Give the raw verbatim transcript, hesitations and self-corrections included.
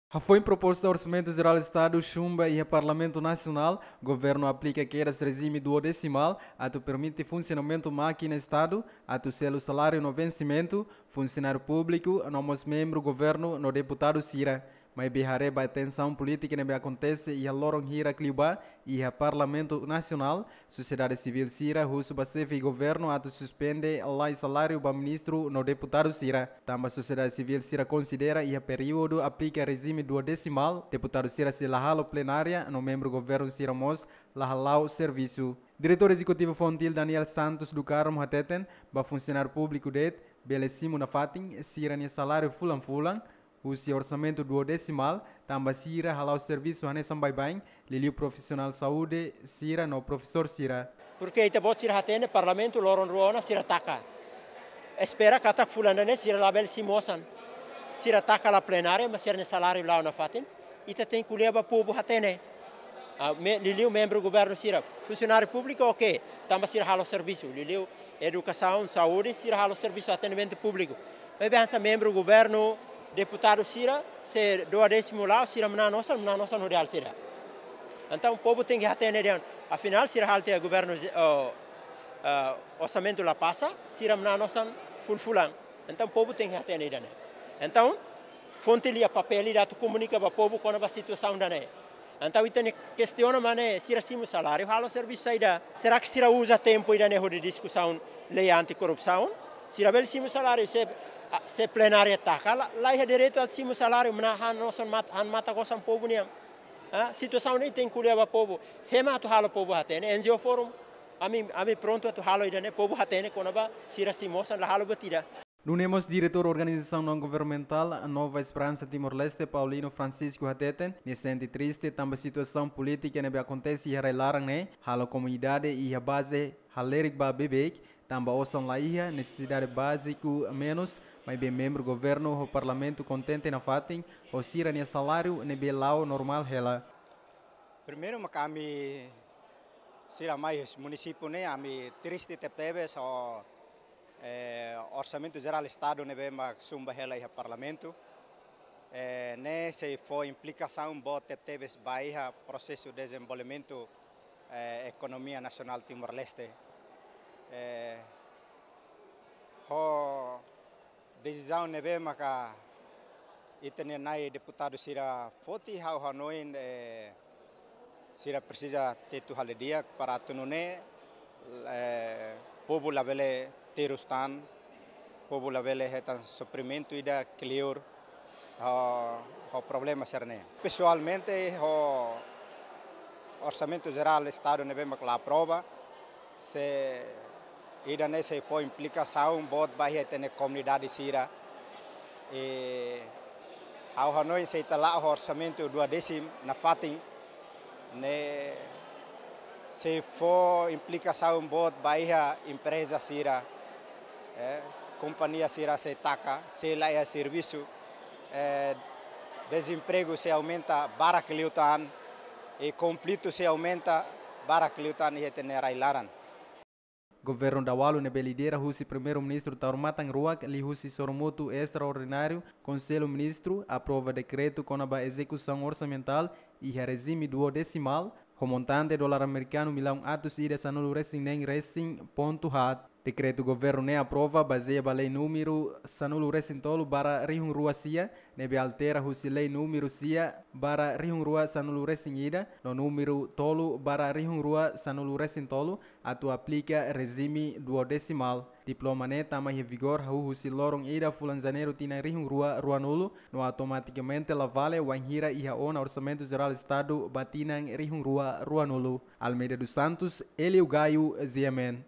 Hafoin proposta Orsamentu Jerál Estadu xumba iha Parlamentu Nasionál, governu aplika kedas rejime duodesimál atu permite funsionamentu mákina Estadu, atu selu saláriu no vensimentu, funsionáriu públiku, no mós membru governu no deputadu sira. Maibé haree ba tensaun polítika ne'ebé akontese iha loron hirak liubá iha Parlamentu Nasionál, sosiedade sivíl sira husu ba xefe governu atu suspende la'o saláriu ba ministru no deputadu sira. Tanba sosiedade sivíl sira konsidera iha períodu aplika rejime duodesimál, deputadu sira sei la halo plenária no membru governu sira mós la hala'o servisu. Diretór Ezekutivu Fontil, Daniel Santos do Carmo, hateten ba funsionáriu públiku de'it bele simu nafatin sira-nia saláriu fulan-fulan husi orsamentu duodesimál, tanba sira hala'o servisu hanesan baibain, liuliu profisionál saúde sira no profesór sira. Porke ita-boot sira hatene, Parlamentu loron rua ona sira taka. Espera katak fulan ida-ne'e sira labele simu osan. Sira taka la plenária, mas sira-nia saláriu la'o nafatin. Ita tenke ko'alia ba povu hatene. Ah, me-, liuliu membru governu sira. Funsionáriu públiku, oke, tanba sira halo servisu. Liuliu edukasaun, saúde, sira halo servisu atendimentu públiku. Maibé hanesan membru governu, deputadu sira, se duodésimu la'o, sira manán osan, manán osan hodi halo saida. Entaun, povu tenke hatene dehan, afinál, sira halo tiha governu, oh, ah, orsamentu la pasa, sira manán osan fulan-fulan. Entaun, povu tenke hatene ida-ne'e. Entaun, Fontil iha papél ida atu komunika ba povu kona-ba situasaun ida-ne'e. Entaun, ita-nia kestiona mak ne'e, sira simu saláriu, halo servisu saida? Será que sira uza tempu ida-ne'e hodi diskusaun lei anti-korrupsaun? Sira bele simu saláriu, se, ah, se plenária taka, la, la iha direitu atu simu saláriu, manán han osan mat-, han matak osan povu nian. Ah, situasaun ne'e tenke ko'alia ba povu. Sé mak atu halo povu hatene, N G O Forum. Ami, ami prontu atu halo ida-ne'e, povu hatene kona-ba sira simu osan, la halo buat ida. Nune'e mós diretór organizasaun naun-governamentál Nova Esperança Timor-Leste, Paulino Francisco, hateten nia sente triste tanba situasaun polítika ne'ebé akontese iha rai-laran ne'e halo komunidade iha baze halerik ba beibeik, tanba osan la iha, nesesidade báziku menus, maibé membru governu ho parlamentu kontente nafatin ho sira-nia saláriu ne'ebé la'o normál hela. Primeiru mak ami sira mai husi munisípiu ne'e, ami triste tebetebes ho, eh, Orsamentu Jerál Estadu ne'ebé mak xumba hela iha Parlamentu. Eh, ne'e sei fó implikasaun boot tebetebes ba iha prosesu dezenvolvimentu, eh, ekonomia nasionál Timor-Leste. Eh, ho desizaun ne'ebé maka ita-nia nai deputadu sira foti, ha'u hanoin, eh, sira presiza tetu hale'u di'ak para atu nune'e, eh, povu labele terus tan, povu labele hetan sofrimentu ida kleur ho, ho problema sira-ne'e. Pesoalmente, ho Orsamentu Jerál Estadu ne'ebé mak la aprova, se ida-ne'e sei fó implikasaun boot ba iha ita-nia komunidade sira. I ha'u hanoin se ita la'o ho orsamentu duodésimu nafatin, ne'e sei fó implikasaun boot ba iha empreza sira, eh, kompañia sira sei taka, sei la iha servisu, eh, dezempregu sei aumenta barak liután, i konflitu sei aumenta barak liután iha ita-nia rai-laran. Governu Dawalu ne'ebé lidera husi Primeiru-Ministru Taur Matan Ruak liuhusi sorumutu estraordináriu Konsellu Ministru aprova dekretu kona-ba ezekusaun orsamentál iha rejime duodesimál, ho montante dolar amerikanu millaun atus ida sanulu-resin-neen resin pontu haat. Dekretu governu ne'e aprova bazeia ba lei númeru sanulu-resin-tolu barra rihun rua sia, ne'ebé altera husi lei númeru sia barra rihun rua sanulu-resin-ida no númeru tolu barra rihun rua sanulu-resin-tolu, atu aplika rejime duodesimál. Diploma ne'e tama iha vigór hahú husi loron ida fulan Janeiru tinan rihun rua ruanulu, no automatikamente la vale wainhira iha ona Orsamentu Jerál Estadu ba tinan rihun rua ruanulu. Almeida dos Santos, Elio Gaio, G M N.